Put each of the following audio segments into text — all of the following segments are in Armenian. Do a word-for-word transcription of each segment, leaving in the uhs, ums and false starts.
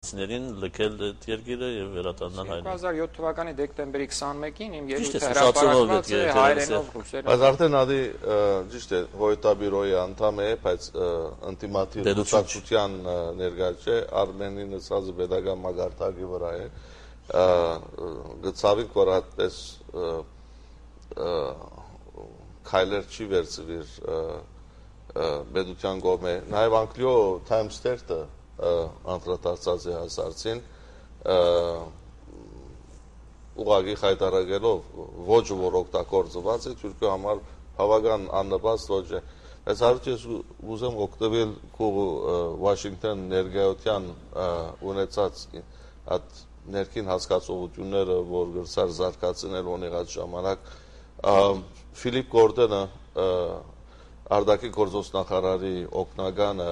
Սիներին լքել այդ երկիրը եւ վերադառնալ հայերեն։ երկու հազար յոթ թվականի դեկտեմբերի քսանմեկին իմ երևույթը հրապարակված է հայերենով ռուսերենով։ Բայց արդեն ադի ճիշտ է Հոյտաբյուրոյի անդամ է, բայց ինտիմատիվ դուսակցության ներկայ չէ, Արմենի նշած pedagogical մագարտակի վրա է։ Գծավիկ որ այդպես քայլեր չի վերցվիր պետության կողմէ, նաեւ Անգլիո Times-ը անդրադարձած է հասարցին ուղղակի հայտարարելով ոչ որ օգտագործված է Թուրքիա համար բավական աննպաստ ոչ է բայց հարցը ուզեմ օգտվել քո Վաշինգտոն ներկայության ունեցած այդ ներքին հասկացողությունները որ գրծար զարգացնել ունեղած ժամանակ Ֆիլիպ Գորդոնը Արդակի գործոստնախարարի օգնականը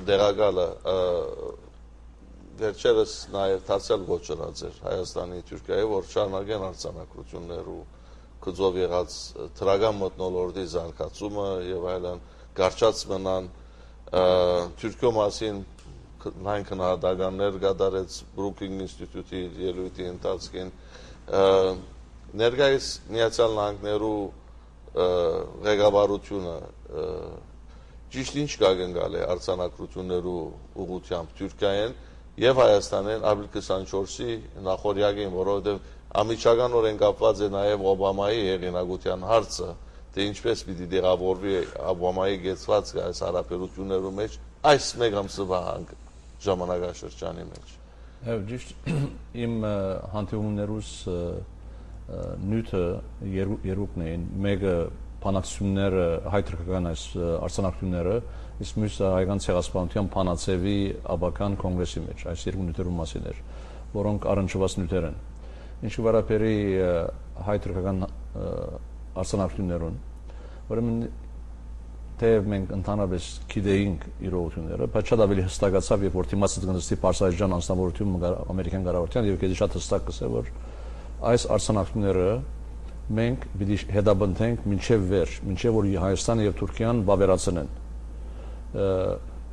դերակալը վերջերս նաև դարձյալ գոչրած էր Հայաստանի Թուրքիայի որ շարունակեն արձանագրություններ ու գծով եղած թրագան մթնոլորտի զարգացումը եւ այլն կարճած մնան Թուրքիո մասին լայն քննադատականներ կատարեց Brookings Institute-ի ելույթի ընթացքին ներկայիս Միացյալ Նահանգներու ղեկավարությունը ճիշտ ինչ կգնալ է արձանագրություններու ուղղությամբ Թուրքիային եւ Հայաստանին ապրիլ քսանչորսի նախորյակին որովհետեւ ամիջականորեն կապված է նաեւ Օբամայի հեղինակության հարցը թե ինչպես պիտի դեղավորվի Օբամայի գեցված այս հարաբերություններու մեջ այս մեկ ամսվա ժամանակաշրջանի մեջ Եվ ճիշտ իմ հանդիպումներուս նյութը երուկն էին, մեկը փանակցությունները, հայ-թուրքական այս արձանագրությունները, իսկ մյուսը հայկական ցեղասպանության փանացեվի աբական կոնգրեսի մեջ, այս երկու նյութերու մասին էր, որոնք առնչված նյութեր են։ Ինչ վերաբերի հայ-թուրքական արձանագրություններուն, ուրեմն թեև մենք ընդհանրապես գիտեինք իրողությունները, բայց շատ ավելի հստակացավ, երբ որ դիմացած գնացի Պարսայջան անձնավորություն ամերիկյան կառավարության եւ քեզ շատ հստակ կսե որ այս արձանագրությունները մենք պիտի հետապնդենք մինչև վերջ, մինչև որ Հայաստանը եւ Թուրքիան բավերացնեն։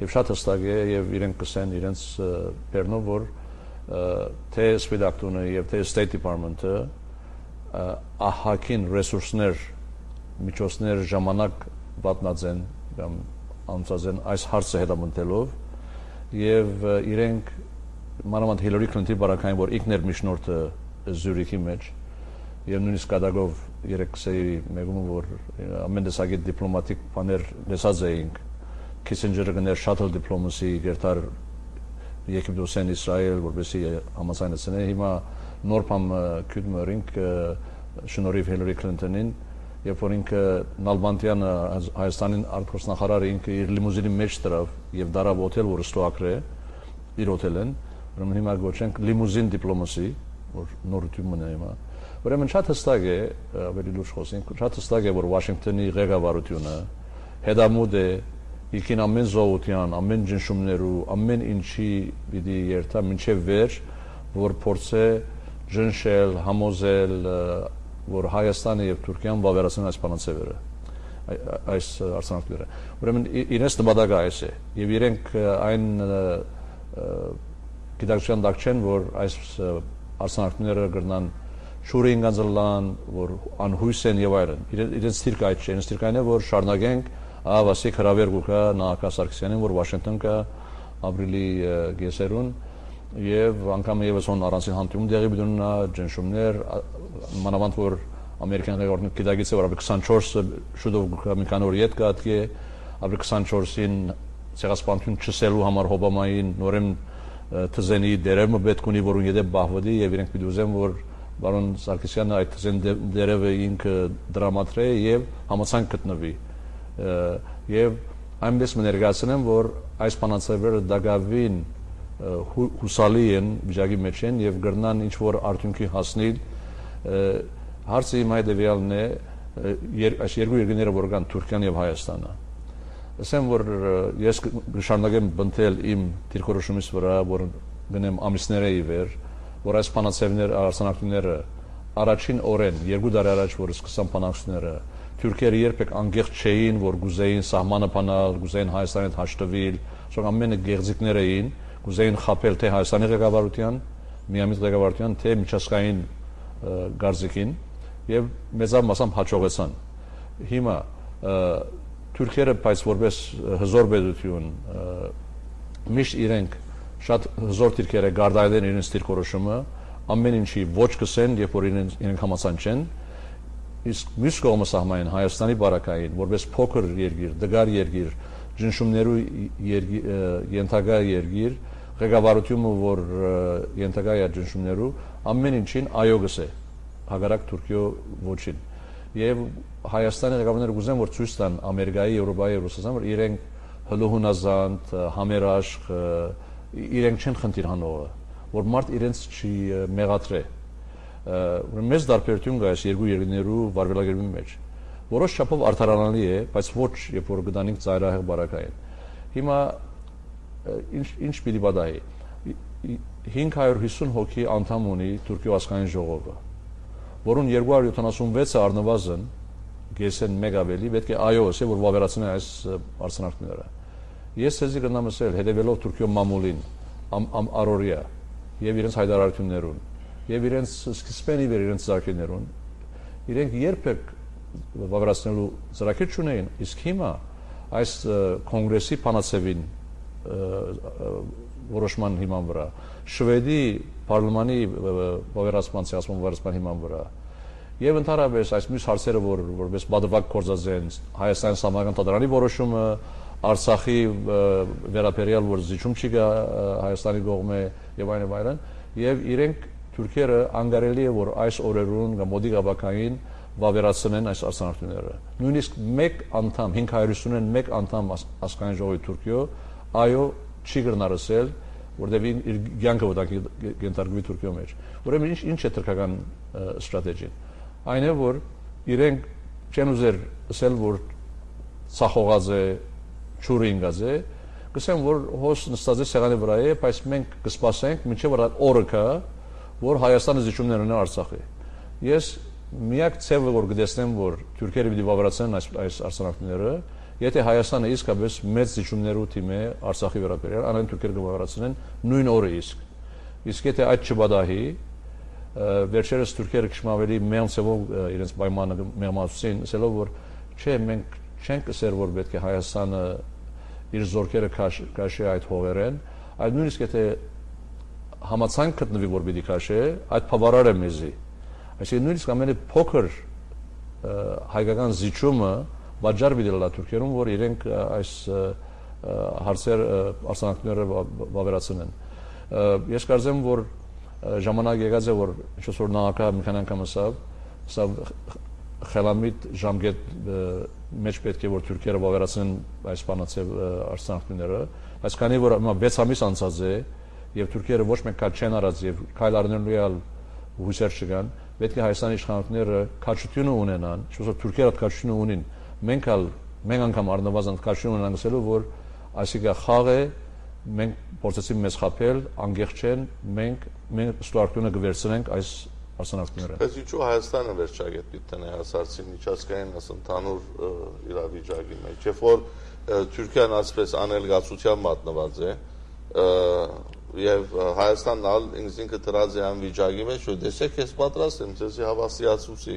Եվ շատ հստակ է եւ իրենք կսեն իրենց բեռնով որ թե Սպիտակտունը եւ թե State Department-ը ահագին ռեսուրսներ, միջոցներ, ժամանակ պատնածեն կամ անցածեն այս հարցը հետապնդելով եւ իրենք մանավանդ Հիլարի Քլինտոնի բարակային որ ինքներ միջնորդը Զյուրիխի մեջ եւ նույնիսկ կադագով երեքսեի մեգում որ ամեն տեսակի դիպլոմատիկ բաներ լսած էինք Քիսինջերը գներ շատլ դիպլոմասի գերտար Եգիպտոսեն Իսրայել որպեսի համաձայնեցնեն հիմա նոր բան քյուդմերինք շնորհիվ Հիլարի Քլինտոնին երբ որ ինքը Նալբանդյանը Հայաստանին արտգործնախարարը ինքը իր լիմուզինի մեջ դրավ եւ դարավ օթել որ ստոակրե իր օթելեն ուրեմն հիմա գոչենք լիմուզին դիպլոմասի որ նորություն մնա հիմա ուրեմն շատ հստակ է ավելի լուրջ խոսենք շատ հստակ է որ Վաշինգտոնի ղեկավարությունը հետամուտ է իքին ամեն զոհության ամեն ճնշումներու ամեն ինչի պիտի երթա մինչև վերջ որ փորձե ճնշել համոզել որ Հայաստանը եւ Թուրքիան բավարարեն այս բանացևերը այս արձանագրությունները ուրեմն իրենց նպատակը այս է եւ իրենք այն գիտակցության դակ չեն որ այս արձանագրությունները կրնան շուրին գանձլան որ անհույս են եւ այլն իրենց թիրք այդ չէ իրենց թիրք այն է որ շարունակենք ավասիկ հրավեր գուկա Նահակա Սարգսյանին որ Վաշինգտոն կա ապրիլի գեսերուն եւ անգամ եւս on առանցին հանդիպում դեղի բդունա ջնշումներ մանավանդ որ ամերիկյան ղեկավարությունը գիտակից է որ ապրիլ քսանչորսը շուտով գուկա մի քանի օր յետ կատկե ապրիլ քսանչորսին ցեղասպանություն չսելու համար Օբամային նորեն թզենի դերևը պետք ունի որ ունի դե բահվդի եւ իրենք պիտի ուզեն որ բարոն Սարգսյանը այդ թզեն դերևը ինքը դրամատրե եւ համացանք գտնվի եւ այնպես մներգացնեմ որ այս բանացավերը դակավին հուսալի են վիճակի մեջ են եւ գրնան ինչ որ արդյունքի հասնել հարցը իմ հետեւյալն է այս երկու երկրները որ կան Թուրքիան եւ Հայաստանը ասեմ որ ես շարունակեմ բնտել իմ դիրքորոշումից վրա որ գնեմ ամիսները ի վեր որ այս բանացավներ արձանագրությունները առաջին օրեն երկու տարի առաջ որ սկսան բանակցությունները Թուրքերը երբեք անգեղջ չէին որ գուզեին սահմանը բանալ գուզեին Հայաստանի հետ հաշտվել շոկ ամենը գեղձիկներ էին կուզեին խապել թե Հայաստանի ղեկավարության, միամիտ ղեկավարության, թե միջազգային գարզիկին եւ մեծավ մասամբ հաջողեցան։ Հիմա թուրքերը բայց որպես հզոր պետություն միշտ իրենք շատ հզոր դիրքեր է գարդայել իրենց դիրքորոշումը, ամեն ինչի ոչ կսեն, երբ որ իրենք իրենք համացան չեն, իսկ մյուս կողմը սահմանեն Հայաստանի բարակային, որպես փոքր երկիր, դգար երկիր, ճնշումներու ենթակա երկիր, ղեկավարությունը, որ ենթակա է ճնշումներու, ամեն ինչին այո գսե, հակառակ Թուրքիո ոչին։ Եվ Հայաստանի ղեկավարները կուզեն, որ ցույց տան Ամերիկայի, Եվրոպայի, Ռուսաստանի, որ իրենք հլուհունազանդ, համերաշխ, իրենք չեն խնդիր հանողը, որ մարդ իրենց չի մեղադրե։ Մեծ դարբերություն կա այս երկու երկրներու վարվելակերպի մեջ, որոշ չափով արդարանալի է, բայց ոչ երբ որ գտանենք ծայրահեղ բարակային։ Հիմա ինչ ինչ պիտի պատահի։ հինգ հարյուր հիսուն հոգի անդամ ունի Թուրքիո ազգային ժողովը, որոնց երկու հարյուր յոթանասունվեցը առնվազն գեսեն մեկ ավելի, պետք է այո ասե, որ վավերացնեն այս արցանակները։ Ես ցեզի կնամ ասել, հետևելով Թուրքիո մամուլին, առօրյա եւ իրենց հայտարարություններուն, եւ իրենց սկզբենի վեր իրենց ծրագրերուն, իրենք երբեք վավերացնելու ծրագիր չունեին, իսկ հիմա այս կոնգրեսի փանացեվին որոշման հիման վրա, Շվեդի պարլամանի վավերացման ցեղասման վավերացման հիման վրա, եւ ընդհանրապես այս մյուս հարցերը, որ որպես բադվակ կորզած են Հայաստանի Սահմանական Թատրոնի որոշումը, Արցախի վերաբերյալ, որ զիջում չի գա Հայաստանի կողմը եւ այլն եւ այլն, եւ իրենք թուրքերը անգարելի է, որ այս օրերուն կամ մոդի գաբակային վավերացնեն այս արցանակները։ Նույնիսկ մեկ անդամ, հինգ հարյուր հիսունն մեկ անդամ ազգային ժողովի Թուրքիո, այո, չի գրնարսել, որտեղ իր ցանկը վտանգի գենտարգվի Թուրքիո մեջ։ Ուրեմն ինչ ինչ է թրքական ստրատեգին։ Այն է, որ իրենք չեն ուզեր ասել, որ ցախողած է, ճուրինգած է, գսեն, որ հոս նստած է սեղանի վրա է, բայց մենք կսպասենք մինչև օրը կա, որ Հայաստանը զիջումներ ունի Արցախի։ Ես միակ ցևը որ գտեսնեմ, որ թուրքերը պիտի վավերացնեն այս այս արցանակները, եթե Հայաստանը իսկապես մեծ զիջումներու թիմ է Արցախի վերաբերյալ, անեն թուրքերը կվավերացնեն նույն օրը իսկ։ Իսկ եթե այդ չբադահի, վերջերս թուրքերը քշմավելի մեծ ցևով իրենց պայմանը մեղմացուցին, ասելով որ չէ, մենք չենք ասել, որ պետք է Հայաստանը իր զորքերը քաշի այդ հողերեն, այլ նույնիսկ եթե համացանք գտնվի, որ պիտի քաշի, այդ բավարար է մեզի։ Այսինքն նույնիսկ ամենը փոքր հայկական զիջումը բաժար պիտի լա թուրքերուն, որ իրենք այս հարցեր արցանակները վավերացնեն։ Ես կարծեմ, որ ժամանակ եկած է, որ ինչ որ նախագահ մի քանի անգամ ասավ, սա խելամիտ ժամկետ մեջ պետք է որ թուրքերը վավերացնեն այս բանացև արցանակները, բայց քանի որ հիմա վեց ամիս անցած է եւ թուրքերը ոչ մեկ քաչ չեն արած եւ քայլ առնելու հույսեր չկան, պետք է Հայաստանի իշխանությունները քաչությունը ունենան, ինչ որ թուրքերը քաչությունը ունին, մենք ալ մենք անգամ առնվազն քաչություն ունենանք ասելու, որ այսիկա խաղ է, մենք փորձեցինք մեզ խաբել, անգեղ չեն, մենք մենք ստուարտությունը կվերցնենք այս արցանակները։ Բայց ինչու Հայաստանը վերջագետ պիտի տնի հասարցի միջազգային ընդհանուր իրավիճակի մեջ, երբ որ Թուրքիան ասպես անելգացության մատնված է, եւ Հայաստանն ալ ինքնին դրած է անվիճակի մեջ, որ դեսեք ես պատրաստ եմ ձեզի հավաստիացուցի։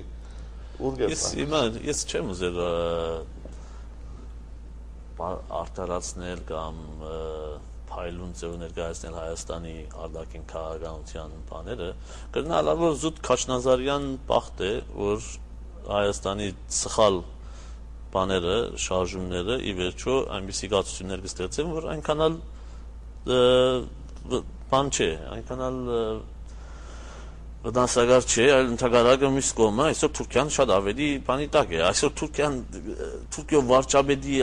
Ուր գետ։ Ես հիմա ես չեմ ուզել արտարացնել կամ փայլուն ձև ներկայացնել Հայաստանի արտաքին քաղաքականության բաները, կգնալ որ զուտ Քաչնազարյան բախտ է, որ Հայաստանի սխալ բաները, շարժումները ի վերջո այնպիսի գացություններ կստեղծեն, որ այնքան էլ բան չէ, այնքան էլ վտանգավոր չէ, այլ ընդհանրակը մյուս կողմը այսօր Թուրքիան շատ ավելի բանի տակ է։ Այսօր Թուրքիան Թուրքիո վարչապետի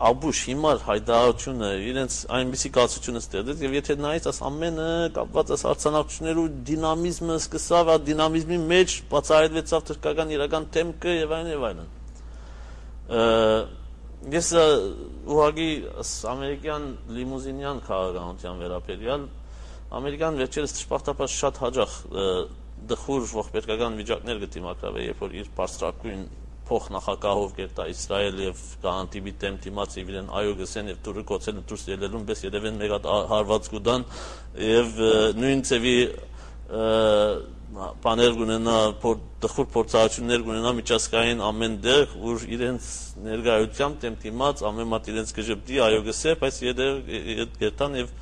Աբուշ հիմար հայտարարությունը իրենց այնպիսի կացությունը ստեղծեց եւ եթե նայես աս ամենը կապված աս արցանակություններու դինամիզմը սկսավ, այդ դինամիզմի մեջ բացահայտվեցավ թուրքական իրական թեմքը եւ այլն եւ այլն։ Ես ուղղակի ամերիկյան լիմուզինյան քաղաքականության վերաբերյալ ամերիկան վերջերս ճշմարտապես շատ հաջող դխուր ողբերգական վիճակներ գտի մակրավե, երբ որ իր բարձրակույն փոխնախագահով կերտա Իսրայել եւ կհանդիպի դեմ դիմաց իրեն այո գսեն եւ դուրը կոչել դուրս ելելուն պես երևեն մեկ հատ հարված կուտան եւ նույն ծեվի բաներ գունենա դխուր փորձառություններ գունենա միջազգային ամեն դեղ որ իրենց ներկայությամբ դեմ դիմաց ամեն մատ իրենց գժբդի այո գսե բայց երբ երթան եւ